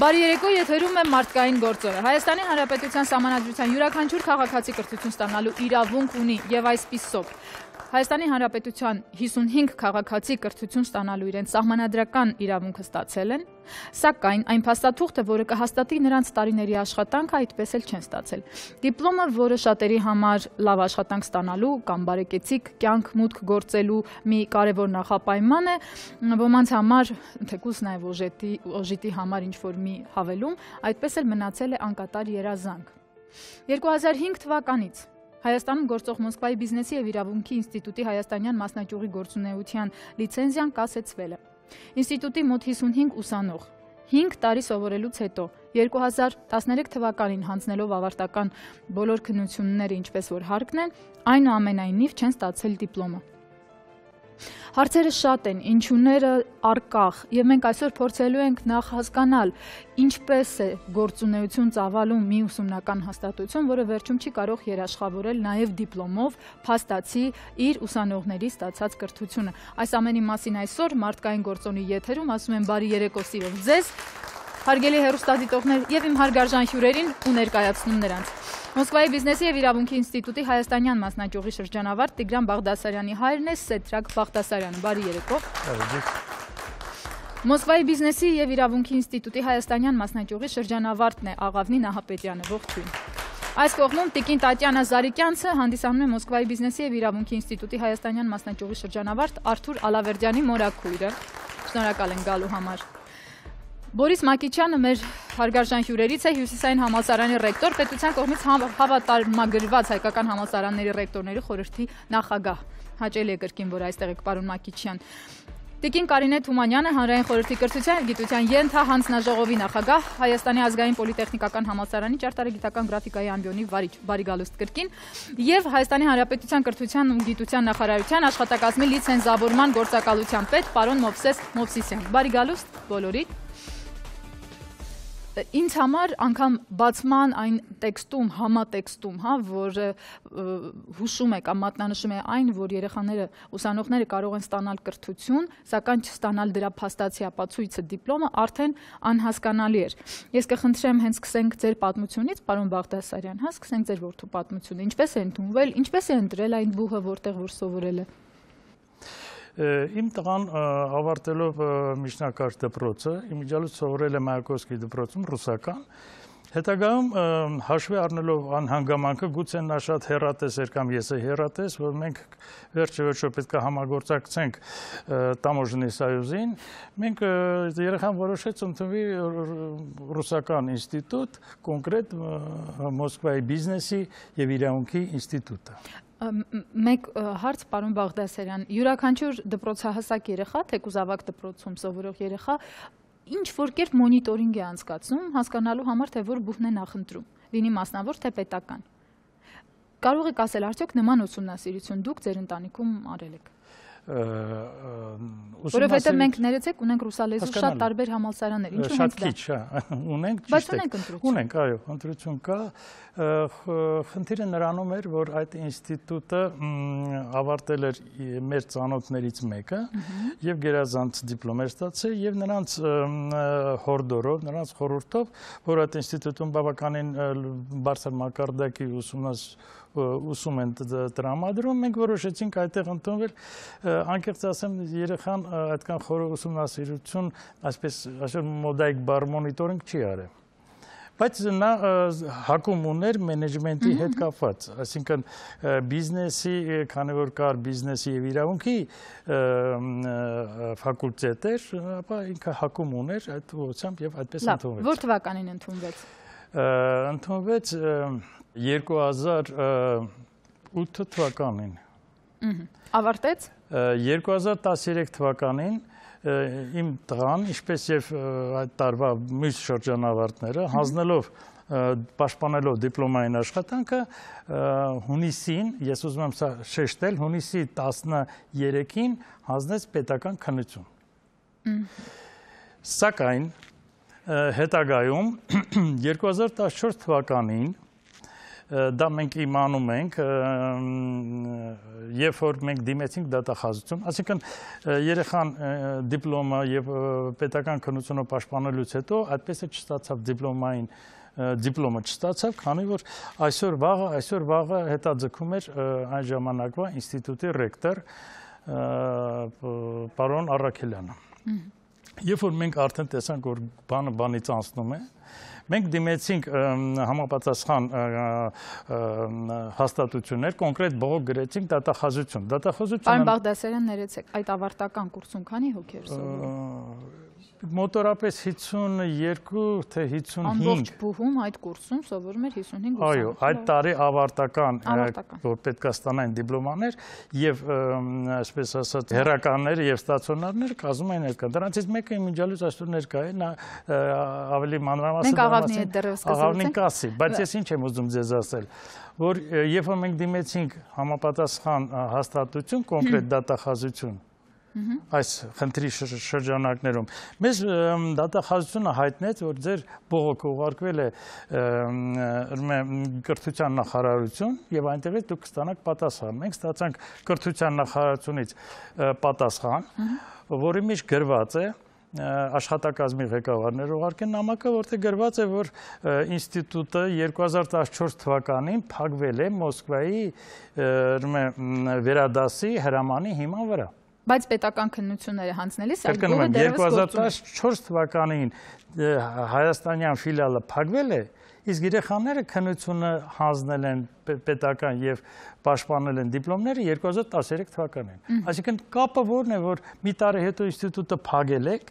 Բարի երեկո, եթերում է մարդկային գործողը։ Հայաստանի Հանրապետության Սահմանադրության յուրաքանչյուր քաղաքացի կրթություն ստանալու իրավունք ունի եւ այսպիսով Հայաստանի Հանրապետության 55 քաղաքացի կրթություն ստանալու իրենց սահմանադրական իրավունքը ստացել են, սակայն այն փաստաթուղթը, որը կհաստատի նրանց տարիների աշխատանքը, այդպես էլ չեն ստացել։ Դիպլոմը, որը շատերի համար լավ աշխատանք ստանալու կամ բարեկեցիկ կյանք մուտք գործելու մի կարևոր նախապայման է, ոմանց համար, թեկուզ նաև օժիտի համար ինչ-որ մի հավելում, այդպես էլ մնացել է անկատար երազանք։ 2005 թվականից Հայաստանում գործող Մոսկվայի բիզնեսի և իրավունքի ինստիտուտի հայաստանյան մասնաճյուղի գործունեության լիցենզիան կասեցվել է։ Ինստիտուտի մոտ 55 ուսանող 5 տարի սովորելուց հետո 2013 թվականին հանձնելով ավարտական բոլոր քննությունները, ինչպես որ հարկն են, այնուամենայնիվ չեն ստացել դիպլոմը։ Հարցերը շատ են, ինչուները առկախ, եւ մենք այսօր փորձելու ենք նախ հասկանալ, ինչպես է գործունեություն ծավալում մի ուսումնական հաստատություն, որը վերջում չի կարող երաշխավորել նաեւ դիպլոմով փաստացի իր ուսանողների ստացած կրթությունը։ Այս ամենի մասին այսօր մարդկային գործոնի եթերում ասում եմ բարի երեկո սիրով ձեզ, հարգելի հեռուստադիտողներ եւ իմ հարգարժան հյուրերին ու ներկայացնում նրանց։ Մոսկվայի բիզնեսի և իրավունքի ինստիտուտի հայաստանյան մասնաճյուղի շրջանավարտ Տիգրան Բաղդասարյանի հայրն է Սեդրակ Բաղդասարյանը։ Բարի երեկո։ Մոսկվայի բիզնեսի և իրավունքի ինստիտուտի հայաստանյան մասնաճյուղի շրջանավարտն է Աղավնի Նահապետյանը։ Ողջույն։ Այս կողմում Տիկին Տատյանա Զարիկյանցը հանդիսանում է Մոսկվայի բիզնեսի և իրավունքի ինստիտուտի հայաստանյան մասնաճյուղի շրջանավարտ Արթուր Ալավերդյանի մորաքույրը։ Շնորհակալ եմ գալու համար։ Բորիս Մակիչյանը մեր հարգարժան հյուրերից է, Հյուսիսային համալսարանի ռեկտոր, պետության կողմից հավատարմագրված հայկական համալսարանների ռեկտորների խորհրդի նախագահ։ Հաճելի է կրկին, որ այստեղ եք պարոն Մակիչյան։ Տիկին Կարինե Թումանյանը, Հանրային խորհրդի կրթության և գիտության ենթահանձնաժողովի նախագահ, Հայաստանի ազգային պոլիտեխնիկական համալսարանի ճարտարագիտական գրաֆիկայի ամբիոնի վարիչ, բարի գալուստ կրկին, և Հայաստանի Հանրապետության կրթության ու գիտության նախարարության աշխատակազմի լիցենզավորման գործակալության պետ պարոն Մովսես Մովսիսյան։ Բարի գալուստ բոլորիդ։ Ինձ համար անգամ բացման այն տեքստում, համատեքստում, որ հուշում է կամ մատնանշում է այն, որ երեխաները, ուսանողները կարող են ստանալ կրթություն, սակայն չստանալ դրա փաստացի ապացույցը դիպլոմը արդեն անհասկանալի էր։ Ես կխնդրեմ հենց սկսենք ձեր պատմությունից, պարոն Բաղդասարյան, սկսենք ձեր որդու պատմությունը, ինչպես է ընդունվել, ինչպես է ընտրել այն բուհը, որտեղ որ սովորել է։ Իմ տղան ավարտելով միջնակարգ դպրոցը, իմիջիալից սովորել է Մայակովսկի դպրոցում ռուսական, հետագայում հաշվի առնելով անհանգամանքը, գուցե նա շատ հեռատես էր կամ ես է հեռատես, որ մենք վերջը պետք է համագործակցենք Տամոժնի սոյուզին, մենք երեխան որոշեց ընդունվի ռուսական ինստիտուտ, կոնկրետ Մոսկվայի բիզնեսի և իրավունքի ինստիտուտը։ Մեկ հարց, պարոն Բաղդասարյան, յուրաքանչյուր դպրոցահասակ երեխա, թեկուզ ավագ դպրոցում սովորող երեխա, ինչ որ կերպ մոնիտորինգ է անցկացնում, հասկանալու համար, թե որ բուհն է նախընտրում, լինի մասնավոր, թե պետական։ Կարող եք ասել, արդյոք նման ուսումնասիրություն դուք ձեր ընտանիքում արել եք։ Որովհետև մենք ներեցեք ունենք ռուսալեզու շատ տարբեր համալսարաններ, ինչու հենց դա։ Շատ քիչ, ունենք, բայց ունենք ընտրություն։ Ունենք, այո, ընտրություն կա։ Խնդիրը նրանում էր, որ այդ ինստիտուտը ավարտել էր մեր ծանոթներից մեկը եւ գերազանց դիպլոմ էր ստացել եւ նրանց հորդորով, նրանց խորհրդով, որ այդ ինստիտուտում բավականին բարձր մակարդակի ուսում են տրամադրում, մենք որոշեցինք այդտեղ ընդունվել, անկեղծ ասեմ, երեխան այդքան խորը ուսումնասիրություն, այսպես այսօր մոդայիկ բառ մոնիտորինգ չի արել։ Բայց նա հակում ուներ մենեջմենտի հետ կապված, այսինքն բիզնեսի, քանի որ կար բիզնեսի և իրավունքի ֆակուլտետ էր, ապա ինքը հակում ուներ այդ ուղղությամբ և այդպես ընդունվեց։ Որ թվականին ընդունվեց։ Ընդունվեց 2008 թվականին։ Ավարտեց։ 2013 թվականին իմ տղան, ինչպես և այդ տարվա մյուս շրջանավարտները, հանձնելով պաշտպանելով դիպլոմային աշխատանքը, հունիսին, ես ուզում եմ սա շեշտել, հունիսի 13-ին հանձնեց պետական քննություն։ Սակայն հետագայում 2014 թվականին դա մենք իմանում ենք, երբ որ մենք դիմեցինք դատախազություն, այսինքն երեխան դիպլոմը եւ պետական քննությունը պաշտպանելուց հետո այդպես է չստացավ դիպլոմը չստացավ, քանի որ այսօր վաղը հետաձգում էր այն ժամանակվա ինստիտուտի ռեկտոր պարոն Առաքելյանը։ Երբ որ մենք արդեն տեսանք, որ բանը բանից անցնում է, մենք դիմեցինք համապատասխան հաստատություններ, կոնկրետ բողոք գրեցինք դատախազություն։ Պարոն Բաղդասարյան, ներեցեք, այդ ավարտական կուրսում քանի հոգի էր սովորում։ Մոտորապես 52 թե 55։ Ամբողջ բուհում այդ կուրսում սովորում էր 55 ուսանող։ Այո, այդ տարի ավարտական, որ պետք է ստանային դիպլոմաներ եւ այսպես ասած հերականներ եւ ստացիոնարներ կազմում են ներկա։ Դրանցից մեկը իմիջիալուց այսօր ներկա է, նա ավելի մանրամասն մենք աղավնի հետ դեռևս աղավնին կասի, բայց ես ինչ եմ ուզում ձեզ ասել, որ երբ որ մենք դիմեցինք համապատասխան հաստատություն, կոնկրետ դատախազություն այս խնդրի շրջանակներում մեզ դատախազությունը հայտնեց, որ ձեր բողոքը ուղարկվել է կրթության նախարարություն եւ այնտեղից դուք կստանաք պատասխան։ Մենք ստացանք կրթության նախարարությունից պատասխան, որի մեջ գրված է աշխատակազմի ղեկավարներ ուղարկեն նամակը, որտեղ գրված է, որ ինստիտուտը 2014 թվականին փակվել է Մոսկվայի վերադասի հրամանի հիման վրա։ Բայց պետական քննությունները հանձնելիս այդ գյուղը դեռևս գործում է։ 2014 թվականին հայաստանյան ֆիլիալը փակվել է, իսկ երեխաները քննությունը հանձնել են պետական եւ պաշտպանել են դիպլոմները 2013 թվականին։ Այսինքն կապը որն է, որ մի տարի հետո ինստիտուտը փակել եք,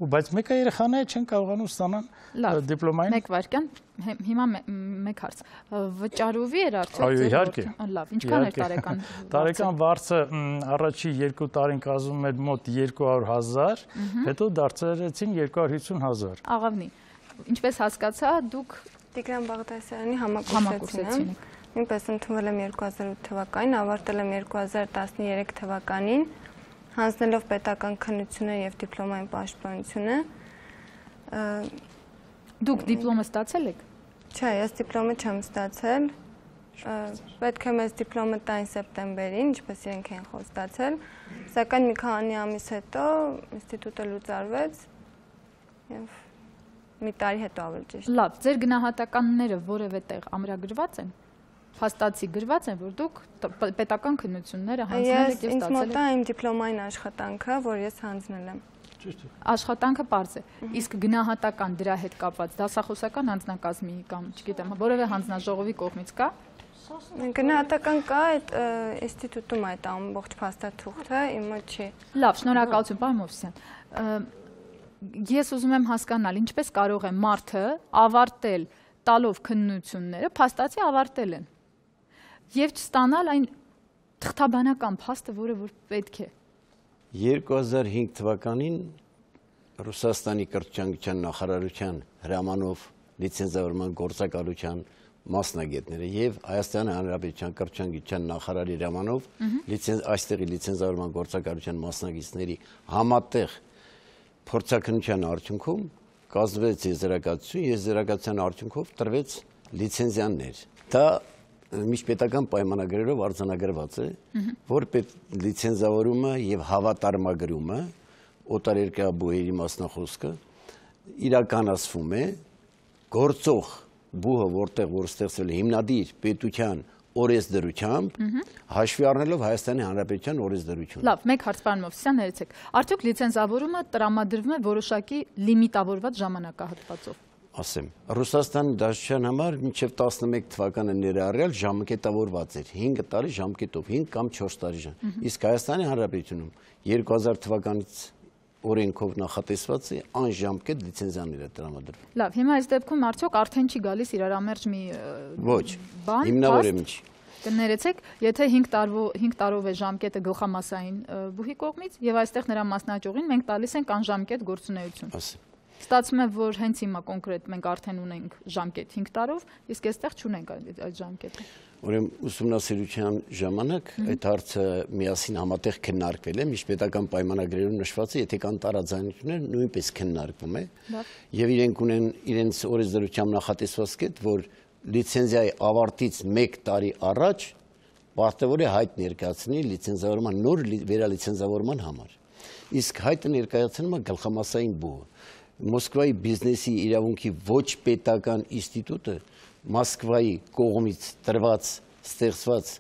բայց մեկը երեխաները չեն կարողանում ստանալ դիպլոմային։ Մեկ վայրկյան, հիմա մեկ հարց։ Վճարովի էր արդյոք։ Այո, իհարկե։ Լավ, ինչքան էր տարեկան։ Տարեկան վարձը առաջի 2 տարին կազմում էր մոտ 200,000, հետո դարձրեցին 250,000։ Աղավնի, ինչպես հասկացա, դուք Տիգրան Բաղդասարյանի համակուրսեցին եք։ Նույնպես ընդունվել եմ 2008 թվականին, ավարտել եմ 2013 թվականին, հանձնելով պետական քննությունը եւ դիպլոմային պաշտպանությունը։ Դուք դիպլոմը ստացել եք։ Չէ, ես դիպլոմը չեմ ստացել։ Պետք է մեզ դիպլոմը տային սեպտեմբերին, ինչպես իրենք են ստացել, սակայն մի քանի ամիս հետո ինստիտուտը լուծարվեց եւ մի տարի հետո ավելի ճիշտ։ Լավ, ձեր գնահատականները որևէ տեղ ամրագրված են։ Փաստացի գրված են, որ դուք պետական քննությունները հանձնել եք եւ ստացել եք։ Ինձ մոտ է իմ դիպլոմային աշխատանքը, որ ես հանձնել եմ։ Աշխատանքը պարզ է։ Իսկ գնահատական դրա հետ կապված դասախոսական անձնակազմի կամ, չգիտեմ, որևէ հանձնաժողովի կողմից կա։ Գնահատական կա այդ ինստիտուտում այդ ամբողջ փաստաթուղթը, իմ մոտ չի։ Լավ, շնորհակալություն, պարոն Մովսիսյան։ Ես ուզում եմ հասկանալ, ինչպես կարող է մարդը ավարտել տալով քննությունները, փաստացի ավարտել են եւ չստանալ այն թղթաբանական փաստը, որը որ պետք է։ 2005 թվականին Ռուսաստանի կրթության նախարարության հրամանով լիցենզավորման գործակալության մասնագետները եւ Հայաստանի Հանրապետության կրթության նախարարի հրամանով այստեղի լիցենզավորման գործակալության մասնագետների համատեղ փորձաքննության արդյունքում կազմվեց եզրակացություն, եզրակացության արդյունքով տրվեց լիցենզիաներ։ Դա միջպետական պայմանագրերով արձանագրված է, որ լիցենզավորումը եւ հավատարմագրումը օտարերկրաբուհերի մասնախոսքը իրականացվում է գործող բուհը, որտեղ որ ստեղծվել է հիմնադիր պետության օրենսդրությամբ, հաշվի առնելով Հայաստանի Հանրապետության օրենսդրությունը։ Լավ, մեկ հարց պարոն Մովսիսյան, ներեցեք։ Արդյոք լիցենզավորումը տրամադրվում է որոշակի լիմիտավորված ժամանակահատվածով։ Ասեմ, Ռուսաստանի Դաշնության համար մինչև 11 թվականը ներառյալ ժամկետավորված էր 5 տարի ժամկետով, 5 կամ 4 տարի։ Իսկ Հայաստանի Հանրապետությունում 2000 թվականից օրենքով նախատեսված է անժամկետ լիցենզիաները տրամադրվում։ Լավ, հիմա այս դեպքում արդյոք արդեն չի գալիս իրարամերժ մի Ոչ, հիմնավոր է ինչ։ Կներեցեք, եթե 5 տարով է ժամկետը գլխամասային բուհի կողմից եւ այստեղ նրա մասնաճյուղին մենք տալիս ենք անժամկետ գործունեություն։ Ստացվում է, որ հենց հիմա կոնկրետ մենք արդեն ունենք ժամկետ 5 տարով, իսկ այստեղ չունենք այդ ժամկետը։ Ուրեմն ուսումնասիրության ժամանակ այդ հարցը միասին համատեղ քննարկվել է, միջպետական պայմանագրերում նշված է, եթե կան տարաձայնություններ, նույնպես քննարկվում է։ Եվ իրենք ունեն իրենց օրենսդրությամբ նախատեսված կետ, որ լիցենզիայի ավարտից 1 տարի առաջ պարտավոր է հայտ ներկայացնի լիցենզավորման նոր վերալիցենզավորման համար։ Իսկ հայտը ներկայացնում է գլխամասային բուհը։ Մոսկվայի բիզնեսի իրավունքի ոչ պետական ինստիտուտը Մոսկվայի կողմից տրված ստեղծված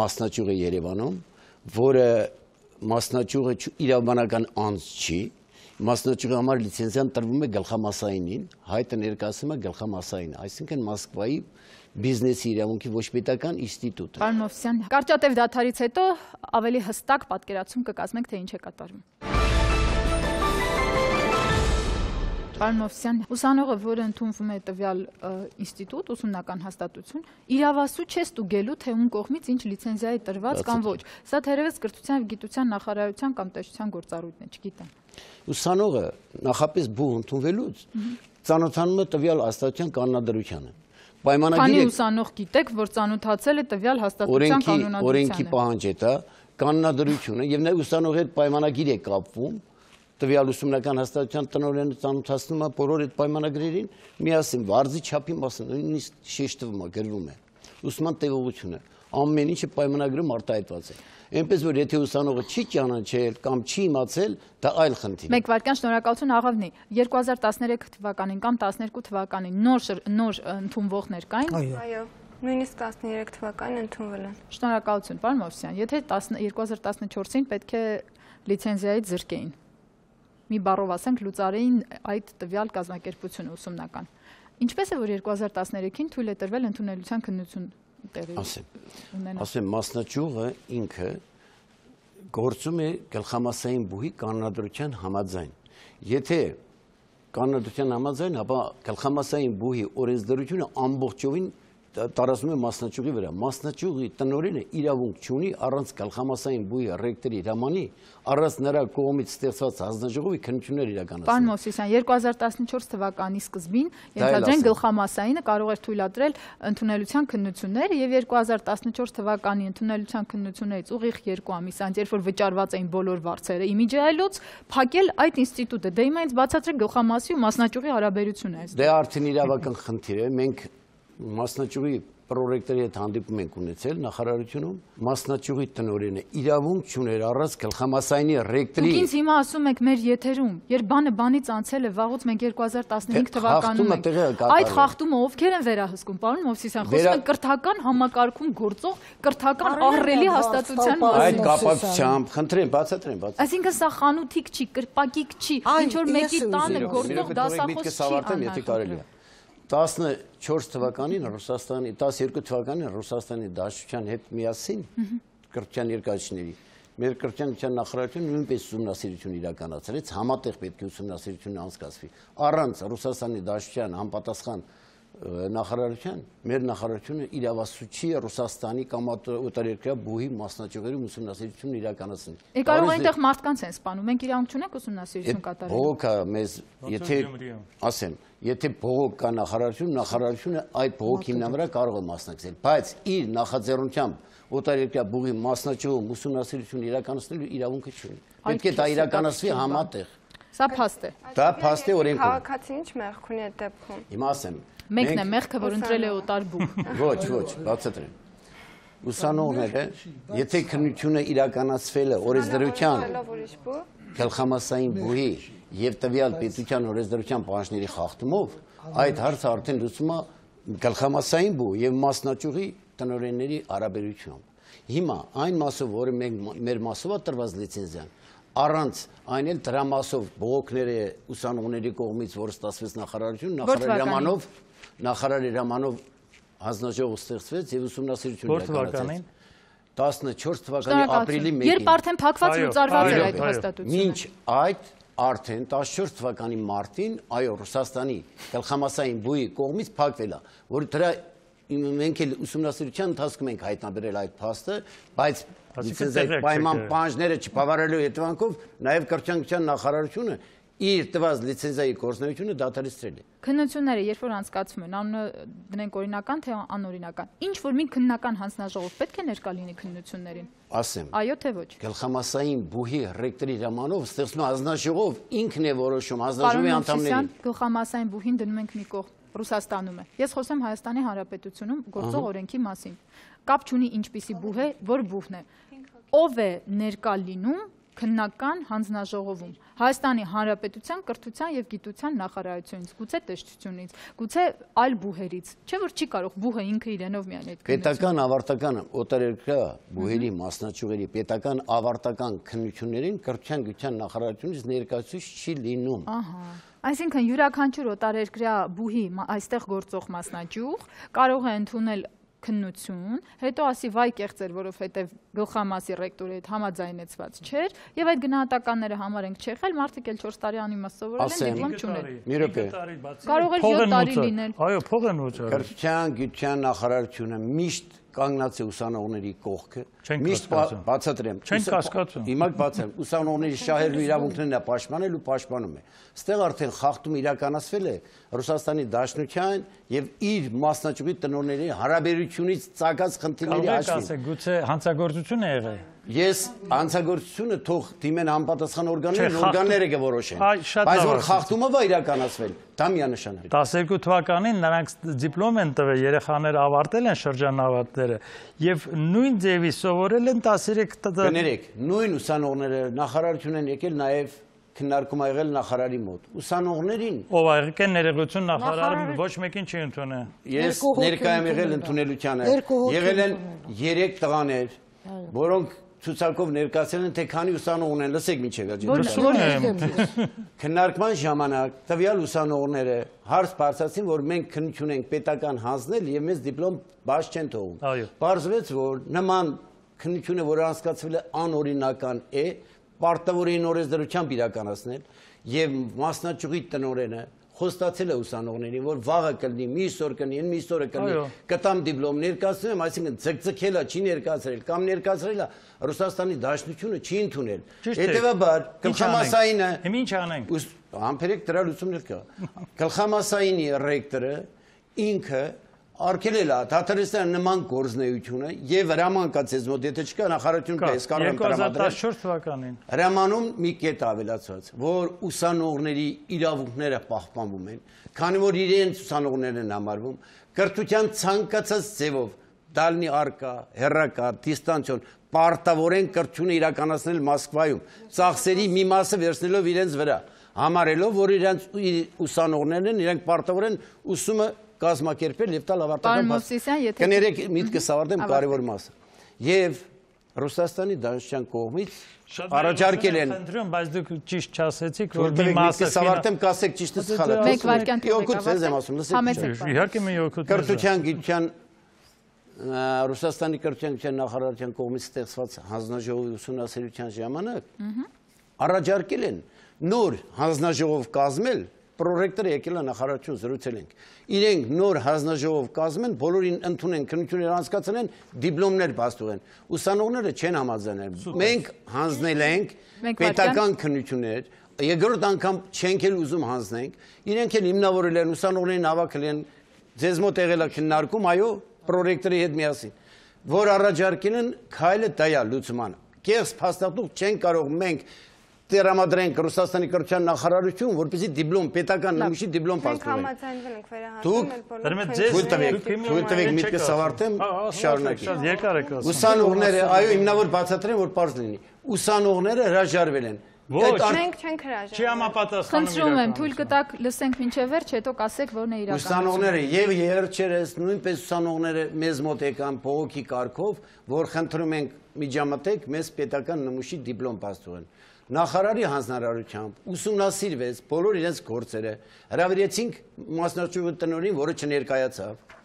մասնաճյուղ է Երևանում, որը մասնաճյուղը իրավաբանական անձ չի, մասնաճյուղի համար լիցենզիան տրվում է գլխամասայինին, հայտը ներկայացնում է գլխամասային, այսինքն Մոսկվայի բիզնեսի իրավունքի ոչ պետական ինստիտուտը։ Պարոն Մովսիսյան, կարճատև դադարից հետո ավելի հստակ պատկերացում կկազմենք, թե ինչ է կատարվում։ Պարոն Մովսիսյան, ուսանողը, որը ընդունվում է տվյալ ինստիտուտ, ուսումնական հաստատություն, իրավասու չէ ստուգելու, թե ում կողմից ինչ լիցենզիա է տրված կամ ոչ։ Սա թերևս կրթության և գիտության նախարարության կամ տեսչության գործառույթն է, չգիտեմ։ Ուսանողը նախապես բուհ ընդունվելուց ծանոթանում է տվյալ հաստատության կանոնադրությանը։ Քանի ուսանող գիտեք, որ ծանոթացել է տվյալ հաստատության կանոնադրությանը։ Օրենքի պահանջ է դա, կանոնադրությունը եւ նաեւ ուսանողի հետ պայմանագիր է կապվում, տվյալ ուսումնական հաստատության տնօրենը ծանոթացնում է բոլոր այդ պայմանագրերին, միասին վարձի չափի մասը նույնիսկ շեշտվում է, գրվում է։ Ուսման տևողությունը, ամեն ինչը պայմանագրում արտահայտված է։ Այնպես որ եթե ուսանողը չի ճանաչել կամ չի իմացել, դա այլ խնդիր է։ Մեկ վայրկյան շնորհակալություն աղավնի։ 2013 թվականին կամ 12 թվականին նոր ընդունվողներ կային։ Այո, նույնիսկ 13 թվականին ընդունվել են։ Շնորհակալություն, պարոն Մովսիսյան, եթե 2014-ին պետք է լիցենզիայից զրկեին։ Մի բառով ասենք, լուծարեին այդ տվյալ կազմակերպությունը ուսումնական։ Ինչպես է, որ 2013-ին թույլ է տրվել ընդունելության քննություն տեղի ունենալ։ Ասեմ, մասնաճյուղը ինքը գործում է գլխամասային բուհի կանոնադրության համաձայն։ Եթե կանոնադրության համաձայն, ապա գլխամասային բուհի օրենսդրությունը ամբողջովին տարածում է մասնաճյուղի վրա։ Մասնաճյուղի տնօրենը իրավունք չունի առանց գլխամասային բուհի ռեկտորի հրամանի, առանց նրա կողմից ստեղծված հանձնաժողովի քննություններ իրականացնել։ Պարոն Մովսիսյան, 2014 թվականի սկզբին ենթադրենք գլխամասայինը կարող էր թույլատրել ընդունելության քննությունները եւ 2014 թվականի ընդունելության քննություններից ուղիղ 2 ամիս անց, երբ որ վճարված էին բոլոր վարձերը, իմիջիայլոց փակել այդ ինստիտուտը։ Դե հիմա ինձ բացատրեք գլխամասի ու մասնաճյուղի հարաբերությունը այս։ Դե արդեն իրավական խնդիր է, մենք մասնաճյուղի պրոռեկտորի հետ հանդիպում ենք ունեցել նախարարությունում, մասնաճյուղի տնօրենը իրավունք չուներ առանց գլխամասայինի ռեկտորի։ Դուք ինձ հիմա ասում եք մեր եթերում, երբ բանը բանից անցել է, վաղուց մենք 2015 թվականում ենք։ Այդ խախտումը ովքեր են վերահսկում, պարոն Մովսիսյան, խոսում ենք կրթական համակարգում գործող կրթական ահռելի հաստատության մասին։ Այդ կապակցությամբ, խնդրեմ, բացատրեմ։ Այսինքն սա խանութիկ չի, կրպակիկ չի, ինչ որ մեկի տանը գործող դասախոս չի։ 14 թվականին Ռուսաստանի, 12 թվականին Ռուսաստանի Դաշնության հետ միասին կրթության երկարիչների մեր կրթության նախարարությունը նույնպես ուսումնասիրություն իրականացրեց, համատեղ պետք է ուսումնասիրությունը անցկացվի։ Առանց Ռուսաստանի Դաշնության համապատասխան նախարարության, մեր նախարարությունը իրավասու չի Ռուսաստանի կամ օտարերկրյա բուհի մասնաճյուղերում ուսումնասիրություն իրականացնել։ Կարող է այնտեղ մարդկանց են սպանում, մենք իրավունք չունենք ուսումնասիրություն կատարել։ Բողոքը մեզ, եթե ասեմ, եթե բողոք կա նախարարությունը այդ բողոքի հիման վրա կարող է մասնակցել, բայց իր նախաձեռնությամբ օտարերկրյա բուհի մասնաճյուղում ուսումնասիրություն իրականացնելու իրավունքը չունի։ Պետք է դա իրականացվի համատեղ։ Սա փաստ է։ Դա փաստ է օրենքում։ Քաղաքացին ինչ մեղք ունի այդ դեպքում։ Հիմա ասեմ։ Մեկն է մեղքը, որ ընտրել է օտար բուհ։ Ոչ, բացատրեմ։ Ուսանողները, եթե քննությունը իրականացվել է օրենսդրության գլխամասային բուհի եւ տվյալ պետության օրենսդրության պահանջների խախտումով, այդ հարցը արդեն լուծում է գլխամասային բուհ եւ մասնաճյուղի տնօրենների հարաբերությամբ։ Հիմա այն մասով, որը մեր մասով է տրված լիցենզիան, առանց այն էլ դրա մասով բողոքները ուսանողների կողմից, որ ստացվեց նախարարություն, նախարարի հրամանով հանձնաժողով ստեղծվեց եւ ուսումնասիրություն իրականացրեց։ 14 թվականի ապրիլի 1-ին։ Երբ արդեն փակված լուծարված էր այդ հաստատությունը։ Մինչ այդ արդեն 14 թվականի մարտին, այո, Ռուսաստանի գլխամասային բուհի կողմից փակվել է, որ դրա մենք էլ ուսումնասիրության ընթացքում ենք հայտնաբերել այդ փաստը, բայց լիցենզիայի պայման պահանջները չբավարարելու հետևանքով նաև կրթության նախարարությունը իր տված լիցենզիայի գործունեությունը դադարեցրել է։ Քննությունները երբ որ անցկացվում են, անունը դնենք օրինական թե անօրինական, ինչ որ մի քննական հանձնաժողով պետք է ներկա լինի քննություններին։ Ասեմ։ Այո թե ոչ։ Գլխամասային բուհի ռեկտորի հրամանով ստեղծվում հանձնաժողով ինքն է որոշում հանձնաժողովի անդամներին։ Գլխամասային բուհին դնում ենք մի կողմ։ Ռուսաստանում է։ Ես խոսեմ Հայաստանի Հանրապետությունում գործող օրենքի մասին։ Կապ չունի ինչպիսի բուհ է, որ բուհն է։ Ով է ներկա լինում քննական հանձնաժողովում Հայաստանի Հանրապետության կրթության եւ գիտության նախարարությունից, գուցե տեսչությունից, գուցե այլ բուհերից, չէ՞ որ չի կարող բուհը ինքը իրենով միայն այդ պետական ավարտական օտարերկրյա բուհերի մասնաճյուղերի պետական ավարտական քննություններին կրթության գիտության նախարարությունից ներկայացուցիչ չի լինում։ Ահա։ Այսինքն յուրաքանչյուր օտարերկրյա բուհի այստեղ գործող մասնաճյուղ կարող է ընդունել քննություն, հետո ասի վայ կեղծեր, որովհետև գլխամասի ռեկտորի հետ համաձայնեցված չէր, եւ այդ գնահատականները համար ենք չեղել, մարդիկ էլ 4 տարի անիմաստ սովորել են, դիպլոմ չունել։ Մի րոպե։ Կարող է 7 տարի լինել։ Այո, փող են վճարում։ Կրթության գիտության նախարարությունը միշտ կանգնած է ուսանողների կողքը, միշտ բացատրեմ։ Չեն կասկածում։ Հիմա բացեմ, ուսանողների շահերն ու իրավունքներն է պաշտպանել ու պաշտպանում է։ Ստեղ արդեն խախտում իրականացվել է Ռուսաստանի Դաշնության եւ իր մասնաճյուղի տնօրենների հարաբերությունից ծագած խնդիրների հաշվին։ Գուցե հանցագործություն է եղել։ Ես հանցագործությունը թող դիմեն անպատասխան օրգանները կորոշեն։ Բայց որ խախտումը բա իրականացվել, դա միանշանակ։ 12 թվականին նրանք դիպլոմ են տվել, երեխաները ավարտել են շրջանավարտները եւ նույն ձևի սովորել են 13 Կներեք, նույն ուսանողները նախարարություն են եկել նաեւ քննարկում ա եղել նախարարի մոտ։ Ուսանողներին ով ա եկել ներեգություն նախարարը ոչ մեկին չի ընդունել։ Ես ներկայ եմ եղել ընդունելությանը։ Եղել են 3 տղաներ, որոնք ցուցակով ներկայացել են թե քանի ուսանող ունեն, լսեք միջև վերջին։ Քննարկման ժամանակ տվյալ ուսանողները հարց բարձրացին, որ մենք քննություն ենք պետական հանձնել եւ մեզ դիպլոմ բաց չեն թողում։ Պարզվեց, որ նման քննությունը, որը անցկացվել է անօրինական է, պարտավորին օրենսդրությամբ իրականացնել եւ մասնաճյուղի տնօրենը խոստացել է ուսանողներին, որ վաղը կլինի, մյուս օր կլինի, մյուս օրը կլինի, կտամ դիպլոմ ներկայացնում եմ, այսինքն ձգձգելա չի ներկայացրել կամ ներկայացրելա Ռուսաստանի Դաշնությունը չի ընդունել։ Հետևաբար գլխամասայինը Հիմա ինչ անենք։ Համբերեք դրա լուծումներ կա։ Գլխամասայինի ռեկտորը ինքը արկելել է Թաթարստան նման գործնեությունը եւ հրամանքած ես մոտ եթե չկա նախարարություն պես կարող եմ տրամադրել 2014 թվականին հրամանում մի կետ ավելացված որ ուսանողների իրավունքները պահպանվում են քանի որ իրենց ուսանողներն են համարվում կրթության ցանկացած ձևով դալնի արկա հերրակա դիստանցիոն պարտավորեն կրթությունը իրականացնել Մոսկվայում ծախսերի մի մասը վերցնելով իրենց վրա համարելով որ իրենց ուսանողներն են իրենք պարտավոր են ուսումը կազմակերպել եւ տալ ավարտական կներեք միտքս ավարտեմ կարևոր մասը եւ Ռուսաստանի Դաշնության կողմից առաջարկել են խնդրում բայց դուք ճիշտ չասեցիք որ մի մասը ավարտեմ կասեք ճիշտը սխալը մեկ վարքյան օգուտ ձեզ եմ ասում լսեք իհարկե մի օգուտ կրթության գիտության Ռուսաստանի կրթության գիտության նախարարության կողմից ստեղծված հանձնաժողովի ուսումնասիրության ժամանակ առաջարկել են նոր հանձնաժողով կազմել Պրոռեկտորը եկել է նախարարություն զրուցել ենք։ Իրենք նոր հանձնաժողով կազմեն, բոլորին ընդունեն, քննություններ անցկացնեն, դիպլոմներ բաց թողեն։ Ուսանողները չեն համաձայնել։ Մենք հանձնել ենք պետական քննություններ, երկրորդ անգամ չենք էլ ուզում հանձնենք։ Իրենք էլ հիմնավորել են ուսանողներին հավաքել են, ձեզ մոտ եղել է քննարկում, այո, պրոռեկտորի հետ միասին, որ առաջարկել են քայլը դա է լուծման։ Կեղծ փաստաթուղթ չեն կարող մենք Տրամադրենք Ռուսաստանի կրթության նախարարություն, որպեսզի դիպլոմ պետական նմուշի դիպլոմ փաստորեն։ Թույլ տվեք միտքս ավարտեմ, շարունակեմ։ Ուսանողները, այո, հիմնավոր բացատրեմ, որ պարզ լինի։ Ուսանողները հրաժարվել են։ Մենք չենք հրաժարվել։ Չի համապատասխանում։ Խնդրում եմ, թույլ կտակ լսենք մինչև վերջ, հետո կասեք որն է իրականությունը։ Ուսանողները եւ երրչերս նույնպես ուսանողները մեզ մոտ եկան փողոքի կարգով, որ խնդրում ենք միջամտեք մեզ պետական նմուշի դիպլոմ փաստորեն։ Նախարարի հանձնարարությամբ ուսումնասիրվեց բոլոր իրենց գործերը, հրավիրեցինք մասնաճյուղի տնօրենին, որը չներկայացավ։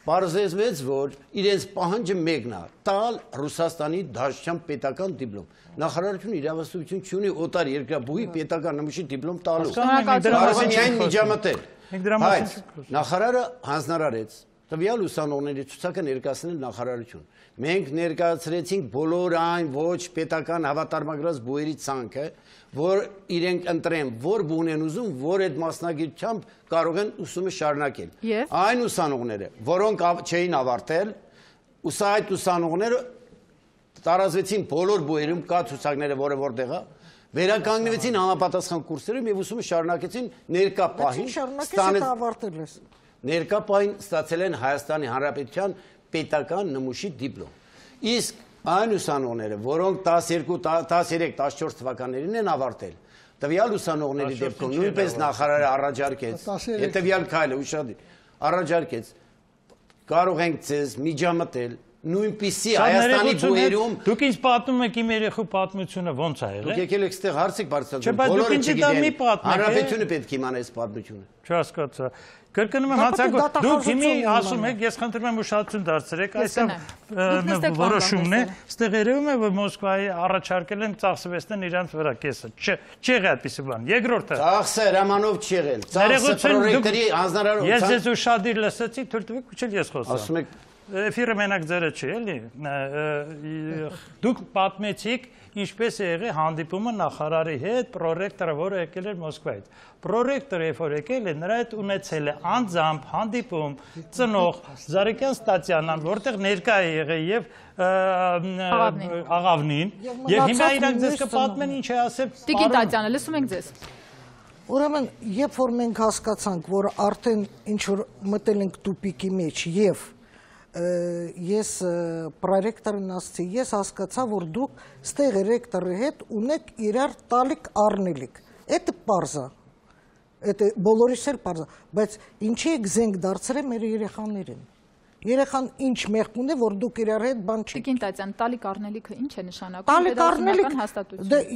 Պարզվեց, որ իրենց պահանջը մեկն է՝ տալ Ռուսաստանի Դաշնության պետական դիպլոմ։ Նախարարությունը իրավասություն չունի օտար երկրաբուհի պետական նմուշի դիպլոմ տալու։ Կարող է միայն միջամտել։ Բայց նախարարը հանձնարարեց տվյալ ուսանողների ցուցակը ներկայացնել նախարարություն։ Մենք ներկայացրեցինք բոլոր այն ոչ պետական հավատարմագրված բուհերի ցանկը, որ իրենք ընտրեն, որ բուն են ուզում, որ այդ մասնագիտությամբ կարող են ուսումը շարունակել։ Այն ուսանողները, որոնք չէին ավարտել, այդ ուսանողները տարածվեցին բոլոր բուհերում, կա ցուցակները, որը որտեղ է, վերականգնվեցին համապատասխան կուրսերում եւ ուսումը շարունակեցին ներկա պահին։ Շարունակեցին ավարտել ես։ Ներկա պահին ստացել են Հայաստանի Հանրապետության պետական նմուշի դիպլոմ։ Իսկ այն ուսանողները, որոնք 12-13-14 թվականներին են ավարտել, տվյալ ուսանողների դեպքում նույնպես նախարարը առաջարկեց, հետևյալ քայլը ուշադիր առաջարկեց, կարող ենք ձեզ միջամտել նույնպիսի Հայաստանի բուհերում դուք ինձ պատմում եք իմ երեխու պատմությունը ոնց է եղել։ Դուք եկել եք այստեղ հարց եք բարձրացնում։ Բոլորը չգիտեն։ Հանրապետությունը պետք է իմանա այս պատմությունը։ Չհասկացա։ Կրկնում եմ հանցագործ, դուք հիմի ասում եք, ես խնդրում եմ ուշադրություն դարձրեք, այսօր որոշումն է, այստեղ երևում է, որ Մոսկվայի առաջարկել են ծախսվեցնեն իրանց վրա կեսը։ Չեղի այդպիսի բան։ Երկրորդը։ Ծախսը հրամանով չի եղել։ Ծախսը պրոյեկտերի հանձնարարությամբ։ Ես ձեզ ուշադիր լսեցի, թույլ տվեք, ուչել ես խոսա։ Ասում եք Էֆիրը մենակ ձերը չի, էլի։ Դուք պատմեցիք ինչպես է եղել հանդիպումը նախարարի հետ, պրոռեկտորը, որը եկել էր Մոսկվայից։ Պրոռեկտորը երբ որ եկել է, նրա հետ ունեցել է անձամբ հանդիպում ծնող Զարիկյան Ստատյանան, որտեղ ներկա է եղել եւ Աղավնին, եւ հիմա իրանք ձեզ կպատմեն ինչ է ասել։ Տիկին Տատյանը, լսում ենք ձեզ։ Ուրեմն, երբ որ մենք հասկացանք, որ արդեն ինչ որ մտել ենք տուպիկի մեջ եւ ես պրոռեկտորին ասացի, ես հասկացա, որ դուք ստեղ ռեկտորի հետ ունեք իրար տալիք առնելիք։ Էդ պարզա։ Էդ բոլորիս էլ պարզա, բայց ինչի եք զենք դարձրել մեր երեխաներին։ Երեխան ինչ մեղք ունի, որ դուք իրար հետ բան չի։ Տիկին Տատյան, տալիք առնելիքը ինչ է նշանակում։ Տալիք առնելիք։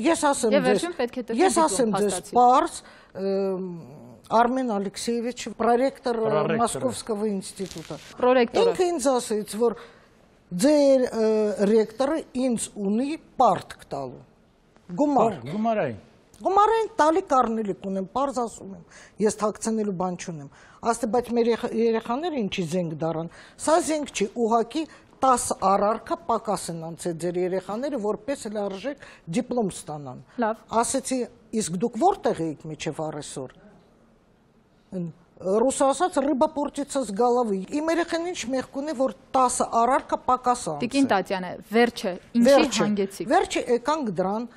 Ես ասեմ ձեզ, պարզ Արմեն Ալեքսեևիչ, պրոռեկտոր Մոսկովского ինստիտուտը։ Ինքը ինձ ասեց, որ ձեր ռեկտորը ինձ ունի պարտք տալու։ Գումար։ Գումարային տալիք առնելիք ունեմ, պարզ ասում եմ, ես թաքցնելու բան չունեմ։ Ասते, բայց մեր երեխաները ինչի զենք դարան։ Սա զենք չի, ուղղակի 10 առարկա պակաս են անցել ձեր երեխաները, որպես լարժեք դիպլոմ ստանան։ Ասեցի, իսկ դուք որտեղ եք միջև առեսօր։ Ռուսասաց ռыбա портится с головы։ Իմ երեխան ինչ մեղք ունի, որ 10 առարկա պակաս անցել։ Տիկին Տատյանը, վերջը, ինչի հանգեցիք։ Վերջը եկանք դրան,